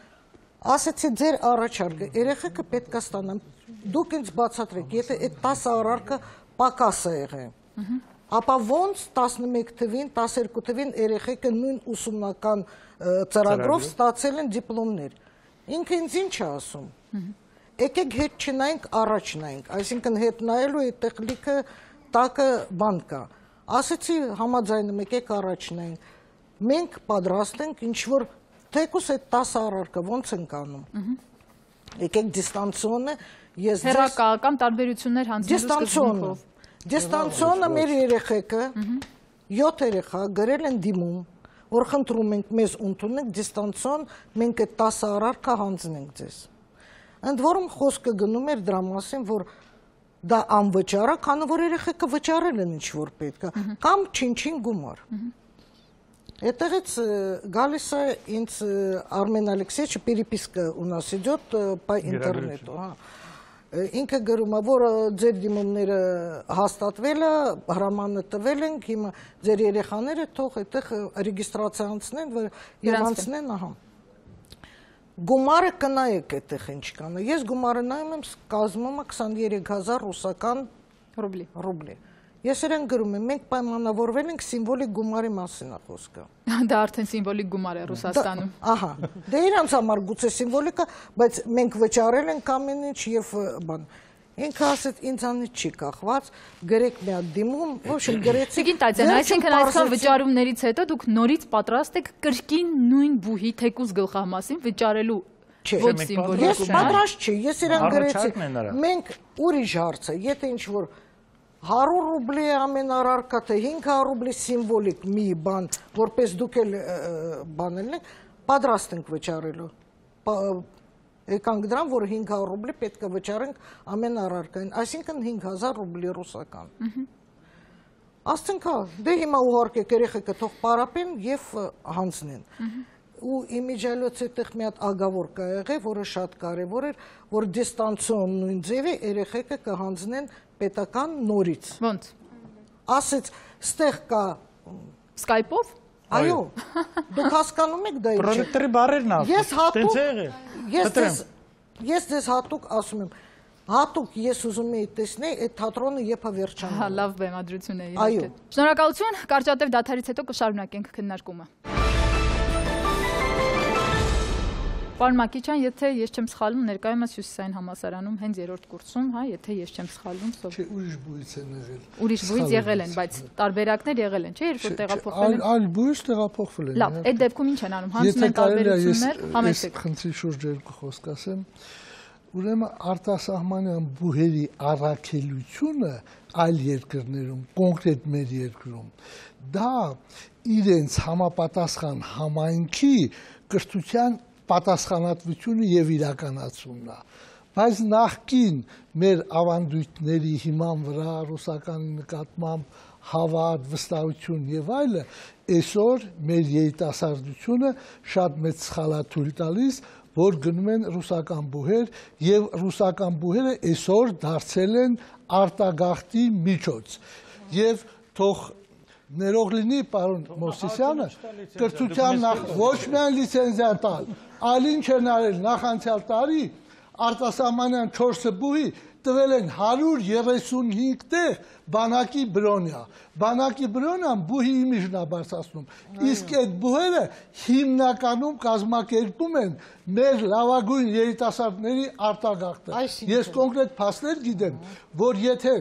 ասեցի ձեր առաջարկը, երեխեքը պետք է ստանան։ Դուք ինձ բացատրեք, եթե այդ 10 առարկը պակաս է եղել։ Ապա ոնց 11 թվին, 12 թվին երեխեքը նույն ուսումնական ծրագրով ստացել են դիպլոմներ։ Ինքը ինձ ինչ է ասում։ Եկեք հետ չնայենք, առաջ նայենք, այսինքն հետ նայելու է տեխնիկը տակը բան կա։ Ասեցի համաձայնում եկեք առաջ նայենք։ Մենք պատրաստ ենք ինչ-որ թեկուս այդ 10 առարկը ոնց ենք անում։ Եկեք դիստանցիոնը, ես հեռակա կամ տարբերություններ հանձնելու սկզբունքով։ Դիստանցիոնը մեր երեխեքը 7 երեխա գրել են դիմում, որ խնդրում ենք մեզ ընդունեք դիստանցիոն, մենք այդ 10 առարկա հանձնենք ձեզ։ Ընդ որում խոսքը գնում էր դրա մասին, որ դա անվճար է, քանի որ երեխեքը վճարել են ինչ որ պետք է, կամ չինչին գումար։ Այդտեղից գալիս է ինձ Արմեն Ալեքսեևիչ переписка у нас идет по интернету, Ինքը գրում է, որ ձեր դիմումները հաստատվել է, հրամանը տվել ենք, հիմա ձեր երեխաները թող այդտեղ ռեգիստրացիա անցնեն եւ անցնեն, ահա։ Գումարը կնայեք այդտեղ ինչ կանը։ Ես գումարը նայում եմ, կազմում է 23000 ռուսական ռուբլի։ Ես իրեն գրում եմ, մենք պայմանավորվել ենք սիմվոլիկ գումարի մասին խոսքը։ Դա արդեն սիմվոլիկ գումար է Ռուսաստանում։ Ահա, դե իրանց համար գուցե սիմվոլիկա, բայց մենք վճարել ենք ամեն ինչ եւ բան։ Ինքը ասեց ինձանից չի կախված, գրեք մի հատ դիմում, ոչինչ գրեցի։ Տիկին Տատյան, այսինքն այսքան վճարումներից հետո դուք նորից պատրաստ եք կրկին նույն բուհի թեկուզ գլխամասին վճարելու ոչ սիմվոլիկ գումար։ Ես պատրաստ չի, ես իրան գրեցի։ Մենք ուրիշ հարց է, եթե ինչ որ 100 ռուբլի ամեն առարկա թե 500 ռուբլի սիմվոլիկ մի բան, որպես դուք էլ բանել եք, պատրաստ ենք վճարելու։ Եկանք դրան, որ 500 ռուբլի պետք է վճարենք ամեն առարկային, այսինքն 5000 ռուբլի ռուսական։ Ասենք հա, դե հիմա ուղարկեք երեխեքը թող պարապեն եւ հանձնեն։ Ու իմիջիալոց այդտեղ մի հատ ագավոր կա եղել, որը շատ կարևոր էր, որ դիստանցիոն նույն ձևի երեխեքը կհանձնեն պետական նորից։ Ոնց։ Ասեց, ստեղ կա Skype-ով։ Այո։ Դուք հասկանում եք դա ինչ։ Պրոյեկտորի բարերն ա։ Ես ձեզ հատուկ ասում եմ, հատուկ ես ուզում եի տեսնել այդ թատրոնը երբ վերջանա։ Լավ բեմադրություն է իհարկե։ Շնորհակալություն, կարճատև դադարից հետո կշարունակենք քննարկումը։ Պարոն Մակիչյան, եթե ես չեմ սխալվում, ներկայումս Հյուսիսային համալսարանում հենց երրորդ կուրսում, հա, եթե ես չեմ սխալվում, Չէ, ուրիշ բույս են եղել։ Ուրիշ բույս եղել են, բայց տարբերակներ եղել են, չէ՞, երբ որ տեղափոխվել են։ Այլ բույս տեղափոխվել են։ Լավ, այդ դեպքում ինչ են անում, հանձնում են տարբերություններ, համեցեք։ Խնդրի շուրջ երկու խոսք ասեմ։ Ուրեմն արտասահմանյան բուհերի առաքելությունը այլ երկրներում, կոնկրետ մեր երկրում, դա իրենց համապատասխան համայնքի կրթության պատասխանատվությունը եւ իրականացումն է, բայց նախքին մեր ավանդույթների հիման վրա ռուսականի նկատմամբ հավատ, վստահություն եւ այլը, այսօր մեր երիտասարդությունը շատ մեծ սխալաթույլ տալիս, որ գնում են ռուսական բուհեր եւ ռուսական բուհերը այսօր դարձել են արտագաղթի միջոց եւ թող ներող լինի պարոն Մովսիսյանը կրթության ոչ միայն լիցենզիա տալ, այլ ինչ են արել նախանցյալ տարի արտասահմանյան 4 բուհի տվել են 135 տեղ բանակի բրոնյա։ Բանակի բրոնյան բուհի իմիջն է բարձրացնում։ Իսկ այդ բուհերը հիմնականում կազմակերպում են մեր լավագույն երիտասարդների արտագաղթը։ Ես կոնկրետ փաստեր գիտեմ, որ եթե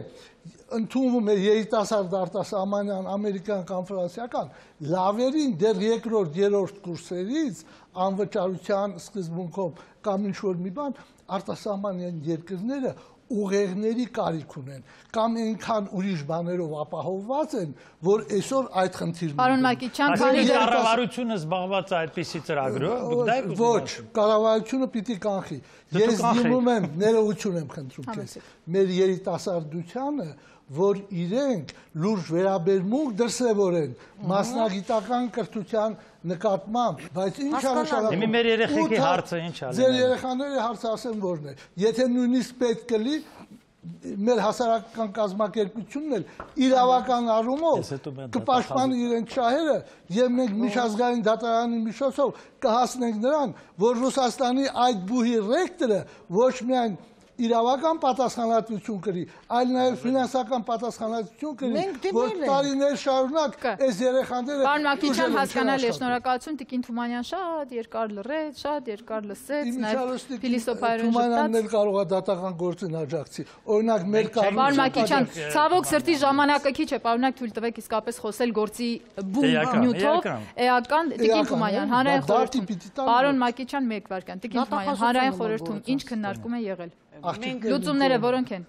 ընդունվում է երիտասարդ արտասահմանյան ամերիկյան կամ ֆրանսիական լավերին դեռ երկրորդ, երրորդ կուրսերից անվճարության սկզբունքով կամ ինչ-որ մի բան արտասահմանյան երկրները ուղեղների կարիք ունեն կամ այնքան ուրիշ բաներով ապահովված են, որ այսօր այդ խնդիրն ունեն։ Պարոն Մակիչյան, կառավարությունը զբաղված է այդպիսի ծրագրով, ոչ, կառավարությունը պիտի կանխի։ Ես դիմում եմ, ներողություն եմ խնդրում քեզ, մեր երիտասարդությանը, որ իրենք լուրջ վերաբերմունք դրսևորեն մասնագիտական կրթության նկատմամբ, բայց ինչ առաջանում։ Հիմա մեր երեխեքի հարցը ինչ ալեն։ Ձեր երեխաների հարցը ասեմ որն է։ Եթե նույնիսկ պետք կլի մեր հասարակական կազմակերպությունն էլ իրավական առումով կպաշտպանի իրենց շահերը եւ մենք միջազգային դատարանի միջոցով կհասնենք նրան, որ Ռուսաստանի այդ բուհի ռեկտորը ոչ միայն իրավական պատասխանատվություն կրի, այլ նաև ֆինանսական պատասխանատվություն կրի, որ տարիներ շարունակ այս երեխաները Պարոն Մակիչյան, հասկանալի է, շնորհակալություն, Տիկին Թումանյան շատ երկար լռեց, շատ երկար լսեց, նաև փիլիսոփայորեն ժպտաց։ Թումանյանն էլ կարող է դատական գործին աջակցի։ Օրինակ մեր Պարոն Մակիչյան, ցավոք սրտի ժամանակը քիչ է, պարոնակ թույլ տվեք իսկապես խոսել գործի բուն նյութով, էական Տիկին Թումանյան, հանրային խորհրդում։ Պարոն Մակիչյան, 1 վայրկյան, Տիկին Թումանյան, հանրային խորհրդում ինչ քննարկում է եղել։ Լուծումները որոնք են։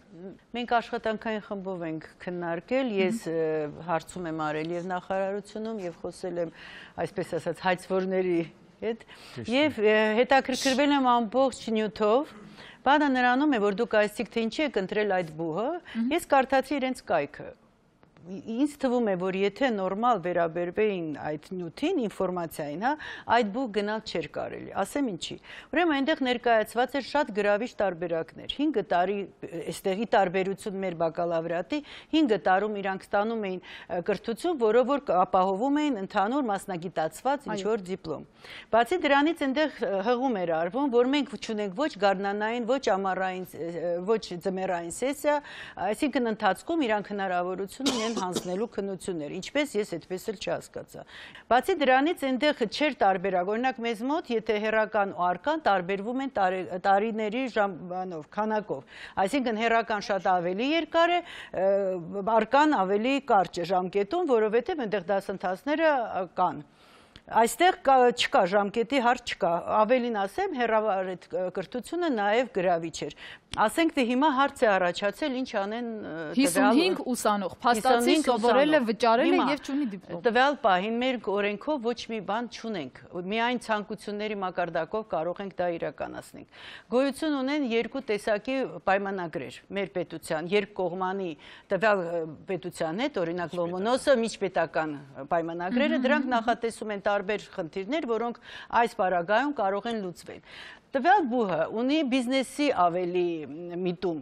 Մենք աշխատանքային խմբով ենք քննարկել, ես հարցում եմ արել եւ նախարարությունում եւ խոսել եմ, այսպես ասած, հայցվորների հետ եւ հետաքրքրվել եմ ամբողջ նյութով։ Բանը նրանում է, որ դուք այսինքն թե ինչի եք ընտրել այդ բուհը, ես կարդացի իրենց կայքը։ Ինձ թվում է, որ եթե նորմալ վերաբերվեին այդ նյութին, ինֆորմացիային, հա, այդ բուհ գնալ չէր կարելի, ասեմ ինչի։ Ուրեմն այնտեղ ներկայացված էր շատ գրավիչ տարբերակներ։ 5 տարի այստեղի տարբերություն մեր բակալավրիատի 5 տարում իրանք ստանում էին կրթություն, որով որ ապահովում էին ընդհանուր մասնագիտացված ինչ-որ դիպլոմ։ Բացի դրանից այնտեղ հղում էր արվում, որ մենք չունենք ոչ գարնանային, ոչ ամառային, ոչ ձմեռային սեսիա, այսինքն ընթացքում իրանք հնարավորություն ունեն հանձնելու քննություններ, ինչպես ես այդպես էլ չհասկացա։ Բացի դրանից այնտեղ չէր տարբերակ, օրինակ մեզ մոտ, եթե հերական ու արկան տարբերվում են տարիների ժամանով, քանակով, այսինքն հերական շատ ավելի երկար է, արկան ավելի կարճ է ժամկետում, որովհետև այնտեղ դասընթացները կան։ Այստեղ չկա ժամկետի հարց չկա, ավելին ասեմ, հեռավար այդ կրթությունը նաև գրավիչ էր։ Ասենք թե հիմա հարց է առաջացել ինչ անեն 55 ուսանող, փաստացի սովորել է, վճարել է եւ չունի դիպլոմ։ Տվյալ պահին մեր օրենքով ոչ մի բան չունենք, միայն ցանկությունների մակարդակով կարող ենք դա իրականացնենք։ Գոյություն ունեն երկու տեսակի պայմանագրեր մեր պետության, երկկողմանի տվյալ պետության հետ, օրինակ Լոմոնոսը միջպետական պայմանագրերը, դրանք նախատեսում են տարբեր խնդիրներ, որոնք այս պարագայում կարող են լուծվել։ Տվյալ բուհը ունի բիզնեսի ավելի միտում,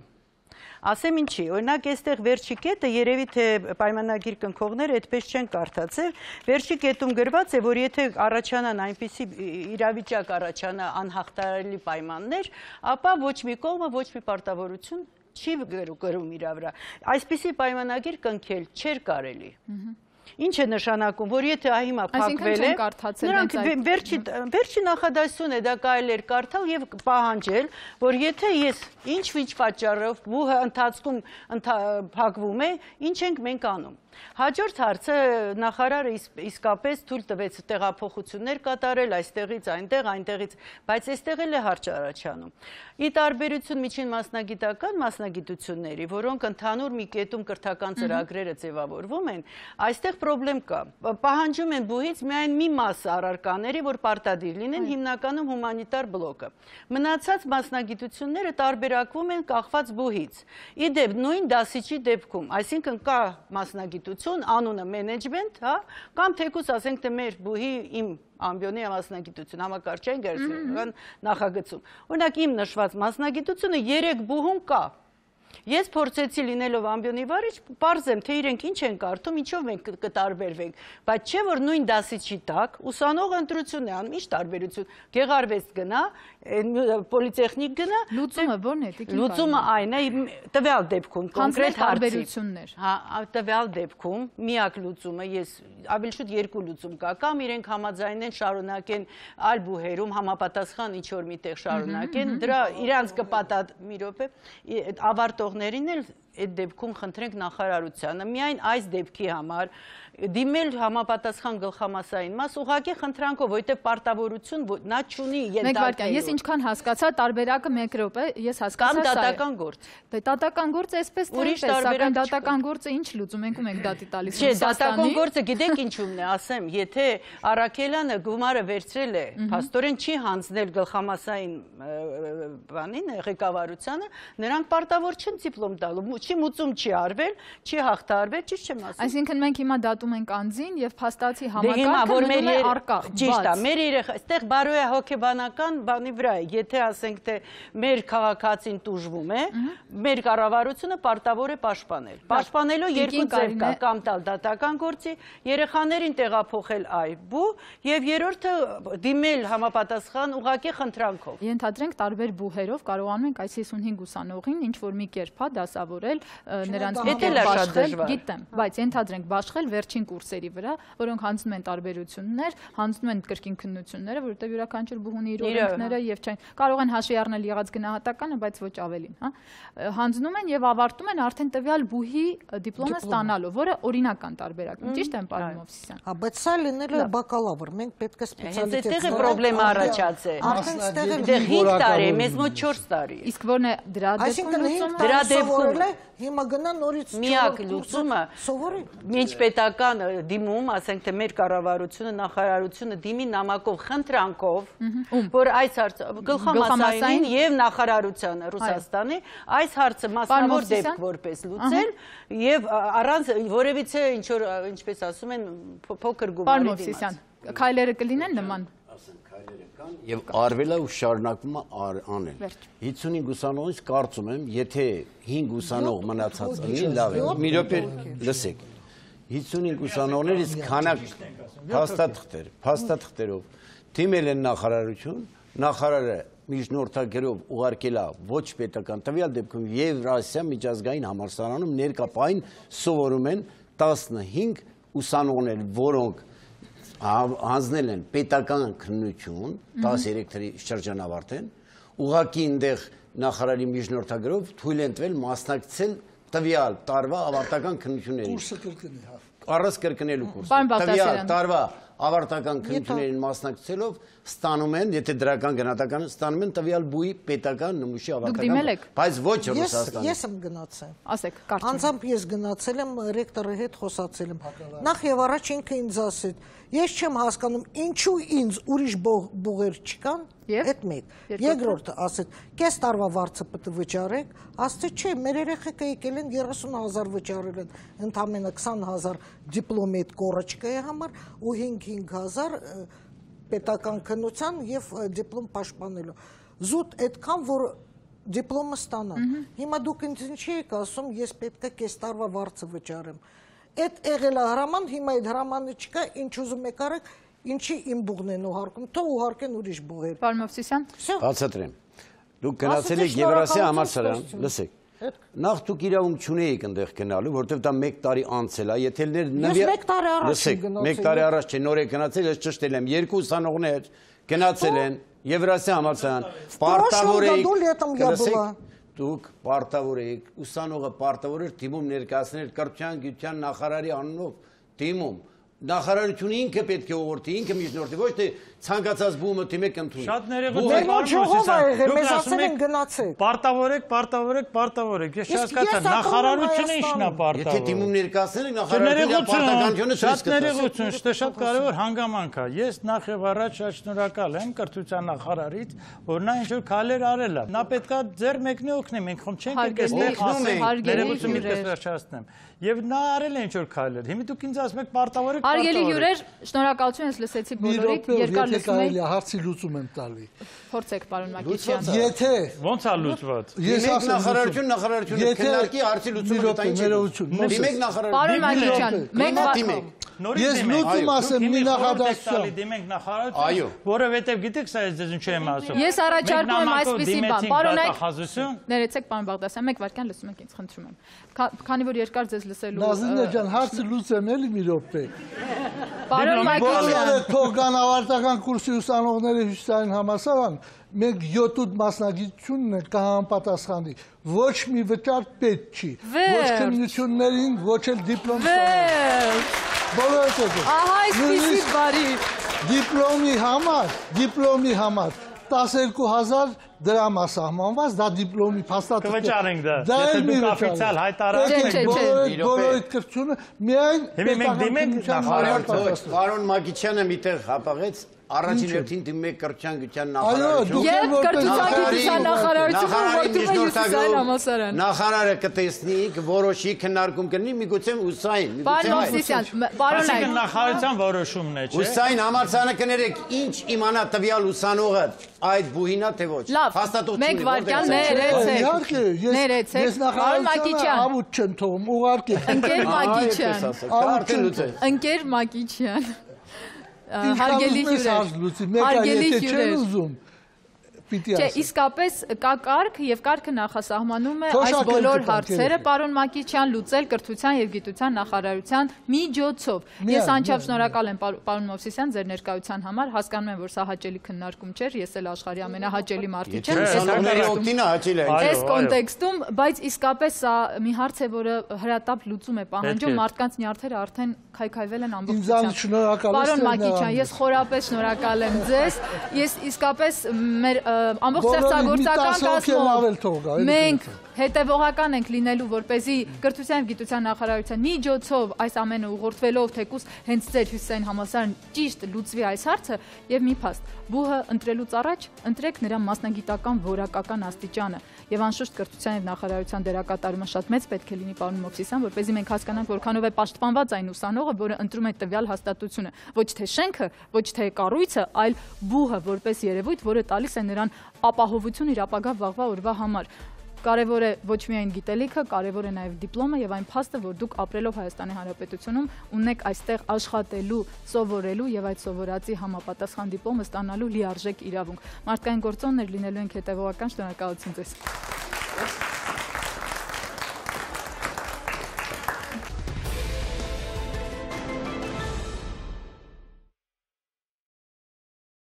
Ասեմ ինչի, օրինակ այստեղ վերջի կետը երևի թե պայմանագիր կնքողները այդպես չեն կարդացել, վերջի կետում գրված է, որ եթե առաջանան այնպիսի իրավիճակ առաջանա անհաղթահարելի պայմաններ, ապա ոչ մի կողմը ոչ մի պարտավորություն չի գրում իր վրա։ Այսպիսի պայմանագիր կնքել չէր կարելի։ Ինչ է նշանակում, որ եթե հիմա փակվել է, նրանք վերջի նախադասություն է դա կարելի էր կարդալ եւ պահանջել, որ եթե ես ինչ-ինչ պատճառով բուհը ընթացքում փակվում է, ինչ ենք մենք անում։ Հաջորդ հարցը նախարարը իսկապես թույլ տվեց տեղափոխություններ կատարել այստեղից այնտեղ, այնտեղից, բայց այստեղ էլ է հարց առաջանում։ Ի տարբերություն միջին մասնագիտությունների, որոնք ընդհանուր մի կետում կրթական ծրագրերը ձևավորվում են, այստեղ խնդրեմ կա։ Պահանջում են բուհից միայն մի մաս առարկաների, որ պարտադիր լինեն, հիմնականում հումանիտար բլոկը։ Մնացած մասնագիտությունները տարբերակվում են կախված բուհից։ Ի դեպ նույն դասիչի դեպքում, այսինքն կա մասնագիտություն, անունը մենեջմենտ, հա, կամ թեկուզ ասենք թե մեր բուհի իմ ամբիոնի մասնագիտություն, համակարգչային գերազանցական նախագծում։ Օրինակ իմ նշված մասնագիտությունը 3 բուհում կա։ Ես փորձեցի լինելով ամբիոնի վարիչ, պարզեմ, թե իրենք ինչ են կարդում, ինչով մենք կտարբերվենք, բայց չէ որ նույն դասիչի տակ ուսանողը ընտրություն է անում, ինչ տարբերություն, գեղարվեստ գնա, պոլիտեխնիկ գնա, լուծումը ո՞րն է, լուծումը այն է, տվյալ դեպքում կոնկրետ հարցերություններ, տվյալ դեպքում միակ լուծումը, ես ավելի շուտ 2 լուծում կա, կամ իրենք համաձայնեն շարունակեն այլ բուհերում համապատասխան ինչ որ միտեղ շարունակեն, դրա իրանց կպատատ մի րոպե ավարտողներին էլ այդ դեպքում խնդրենք նախարարությանը միայն այս դեպքի համար դիմել համապատասխան գլխամասային մաս ուղղակի խնդրանքով, որտեղ պարտավորություն նա չունի ենթարկել։ Ես ինչքան հասկացա, տարբերակը 1 րոպե, ես հասկացա կամ դատական գործ։ Դե դատական գործը այսպես թե այնպես, սակայն դատական գործը ինչ լուծում ենք ու մենք դատի տալիս ենք։ Չէ, դատական գործը գիտեք ինչումն է, ասեմ, եթե Արաքելյանը գումարը վերցրել է, փաստորեն չի հանձնել գլխամասային բանին, ղեկավարությանը, նրանք պարտավոր չեն դիպլոմ տալու, չի մուծում չի արվել, չի հաղթահարվել, ճիշտ չեմ ասում։ Այսինքն մենք հիմա դատում ենք անձին եւ փաստացի համակարգը մնում է առկա։ Ճիշտ է, մեր երեխա, այստեղ բարոյա հոգեբանական բանի վրա է, եթե ասենք թե մեր քաղաքացին տուժվում է, մեր կառավարությունը պարտավոր է պաշտպանել։ Պաշտպանելու 2 ձև կա, կամ տալ դատական գործի, երեխաներին տեղափոխել այբու եւ երրորդը դիմել համապատասխան ուղղակի խնդրանքով։ Ենթադրենք տարբեր բուհերով կարողանում ենք այս 55 ուսանողին ինչ որ մի կերպ դասավորել նրանց հետ բաշխել, գիտեմ, բայց ենթադրենք բաշխել վերջին կուրսերի վրա, որոնք հանձնում են տարբերություններ, հանձնում են կրկին քննությունները, որովհետև յուրաքանչյուր բուհունի իր օրենքները եւ չեն կարող են հաշվի առնել եղած գնահատականը, բայց ոչ ավելին, հա։ Հանձնում են եւ ավարտում են արդեն տվյալ բուհի դիպլոմը ստանալով, որը օրինական տարբերակ է, ճիշտ եմ պարոն Մովսիսյան։ Հա, բայց սա լինել է բակալավր, մենք պետք է սպեցիալիտետ։ Այստեղ է խնդրեմը առաջացել։ Այստեղ 5 տարի, մեզ մոտ 4 տարի։ Իսկ ո՞րն է դրա դեպքում դրա դեպքում հիմա գնա նորից միակ լուծումը սովորի միջպետական դիմում, ասենք թե մեր կառավարությունը, նախարարությունը դիմի նամակով խնդրանքով, որ այս հարցը գլխամասային եւ նախարարությանը Ռուսաստանի այս հարցը մասնավոր դեպք որպես լուծել եւ առանց որևիցե ինչ որ ինչպես ասում են փոքր գումարի դիմաց։ Պարոն Մովսիսյան, քայլերը կլինեն նման Եվ արվել է ու շարունակվում է անել։ 55 ուսանողից կարծում եմ, եթե 5 ուսանող մնացած ունի, լավ է։ Մի րոպե լսեք։ 55 ուսանողներից քանակ փաստաթղթերով թիմել են նախարարություն, նախարարը միջնորդագրով ուղարկել է ոչ պետական տվյալ դեպքում Եվրասիա միջազգային համալսարանում ներկայ սովորում են 15 ուսանողներ, որոնք հանձնել են պետական քննություն 13 թվականի շրջանավարտեն ուղղակի այնտեղ նախարարի միջնորդագրով թույլ են տվել մասնակցել տվյալ տարվա ավարտական քննություններին կուրսը կրկնի հա առանց կրկնելու կուրսը տվյալ տարվա ավարտական քննություններին մասնակցելով ստանում են եթե դրական գնահատական ստանում են տվյալ բուհի պետական նմուշի ավարտական բայց ոչ Ռուսաստանի ես եմ գնացել ասեք կարծում անձամբ ես գնացել եմ ռեկտորի հետ խոսացել եմ նախ եւ առաջ ինքը ինձ ասեց ես չեմ հասկանում ինչու ինձ ուրիշ բուղեր չկան այդ մեկ երկրորդը ասեց կես տարվա վարձը պետք է վճարեք ասացի չէ մեր երեխեքը եկել են 30000 վճարել են ընդամենը 20000 դիպլոմի այդ կորочкայի համար ու 5000 պետական քննության եւ դիպլոմ պաշտպանելու զուտ այդքան որ դիպլոմը ստանան։ Հիմա դուք ինձ ինչի եք ասում, ես պետք է կես տարվա վարձը վճարեմ։ Այդ եղել է հրաման, հիմա այդ հրամանը չկա, ինչ ուզում եք արեք, ինչի իմ բուղն են ուղարկում, թող ուղարկեն ուրիշ բուղեր։ Պարոն Մովսիսյան։ Բացատրեմ։ Դուք գնացել եք Եվրասիա համալսարան, լսեք։ Նախ դուք իրավունք չունեիք այնտեղ գնալու, որովհետև դա 1 տարի անցել է, եթե Ես 1 տարի առաջ եմ գնացել։ 1 տարի առաջ չէ, նոր եք գնացել, ես ճշտել եմ, 2 ուսանողներ գնացել են Եվրասիա համալսարան, պարտավոր եք, դուք պարտավոր եք, ուսանողը պարտավոր էր դիմում ներկայացնել կրթության գիտության նախարարի անունով, դիմում նախարարությունը ինքը պետք է ուղղորդի, ինքը միջնորդի, ոչ թե ցանկացած բումը դիմեք ընդունի։ Շատ պարտավոր եք, ես չհասկացա, նախարարությունը ի՞նչն է պարտավոր։ Եթե դիմում ներկայացնել եք, նախարարությունը պարտականությունը շատ ներողություն, դա շատ կարևոր հանգամանք է։ Ես նախ եւ առաջ շնորհակալ եմ կրթության նախարարից, որ նա ինչ-որ քայլեր արել է։ Նա պետքա ձեր մեկնի օգնի, մենք խոմ չենք այստեղ ասել, ներողություն միտքս վերջացնեմ։ Եվ նա արել է ինչ-որ քայլեր։ Հիմա դուք ինձ ասում եք պարտավոր եք։ Հարգելի հյուրեր, շնորհակալություն, ես լսեցի բոլորիդ, երկար լսում եք։ Հարցի լուծում եմ տալի։ Փորձեք, պարոն Մակիչյան։ Եթե ոնց է լուծված։ Ես նախարարությունը քննարկի հարցի լուծումը դա ինչ է։ Դիմեք նախարարություն։ Պարոն Մակիչյան, դիմեք։ Ես լուծում ասեմ մի նախադասություն։ Դիմենք նախարարություն, որովհետև գիտեք սա ես ինչ եմ ասում։ Ես առաջարկում եմ այսպեսի բան, պարոնայք։ Խազություն։ Ներեցեք, պարոն Բաղդասյան, 1 վայրկյան լսում եք ինձ, խնդրում եմ։ Քանի որ երկար ձեզ լսելու։ Նազինե ջան, հարցը լուծեմ էլի մի րոպե։ Պարոն Մակիչյան։ Բոլորը թողան ավարտական կուրսի ուսանողները Հյուսիսային համալսարան, մենք 7-8 մասնագիտությունն է կհամապատասխանի։ Ոչ մի վճար պետք չի։ Ոչ քննություններին, ոչ էլ դիպլոմ ստանալու։ Բոլորը տեսեք։ Ահա այսպեսի բարի։ Դիպլոմի համար 12000 դրամ է սահմանված, դա դիպլոմի փաստաթղթ։ Կվճարենք դա։ Եթե դուք օֆիցիալ հայտարարեք, բոլորի կրթությունը միայն դիմենք նախարարություն։ Պարոն Մակիչյանը միտեղ հապաղեց առաջին հերթին դիմում եք կրթության գիտության նախարարություն։ Եվ կրթության գիտության նախարարությունը որդում է Հյուսիսային համալսարան։ Նախարարը կտեսնի, կորոշի, քննարկում կլինի, միգուցե ուսային, Պարոն Մովսիսյան, պարոն Այսինքն նախարարության որոշումն է, չէ՞։ Ուսային համալսարանը կներեք, ինչ իմանա տվյալ ուսանողը այդ բուհինա թե ոչ։ Լավ, մեկ վայրկյան ներեցեք։ Ես նախարարությունը ավուտ չեմ թողում, ուղարկեք։ Ընկեր Մակիչյան։ Հարգելի հյուրեր, Չէ, իսկապես կա կարգ եւ կարգը նախասահմանում է այս բոլոր հարցերը պարոն Մակիչյան լուծել կրթության եւ գիտության նախարարության միջոցով։ Ես անչափ շնորհակալ եմ պարոն Մովսիսյան ձեր ներկայության համար, հասկանում եմ, որ սա հաճելի քննարկում չէր, ես էլ աշխարհի ամենահաճելի մարդիկ եմ։ Այս կոնտեքստում, բայց իսկապես սա մի հարց է, որը հրատապ լուծում է պահանջում, մարդկանց նյարդերը արդեն քայքայվել են ամբողջությամբ։ Պարոն Մակիչյան, ես խորապես շնորհակալ եմ ձեզ։ Ես իսկապես մեր ամբողջ ստեղծագործական կազմով մենք հետևողական ենք լինելու, որպեսզի կրթության և գիտության նախարարության միջոցով այս ամենը ուղղորդվելով թեկուզ հենց ձեր Հյուսիսային համալսարան ճիշտ լուծվի այս հարցը եւ մի փաստ բուհը ընտրելուց առաջ ընտրեք նրա մասնագիտական որակական աստիճանը եւ անշուշտ կրթության եւ նախարարության դերակատարումը շատ մեծ պետք է լինի պարոն Մովսիսյան, որպեսզի մենք հասկանանք որքանով է պաշտպանված այն ուսանողը, որը ընտրում է տվյալ հաստատությունը, ոչ թե շենքը, ոչ թե կառույցը, այլ բուհը որպես երևույթ, որը տալիս է նրան ապահովություն իր ապագա վաղվա օրվա համար։ Կարևոր է ոչ միայն գիտելիքը, կարևոր է նաև դիպլոմը եւ այն փաստը, որ դուք ապրելով Հայաստանի Հանրապետությունում ունեք այստեղ աշխատելու, սովորելու եւ այդ սովորածի համապատասխան դիպլոմը ստանալու լիարժեք իրավունք։ Մարդկային գործոններ լինելու ենք հետեւողական, շնորհակալություն ձեզ։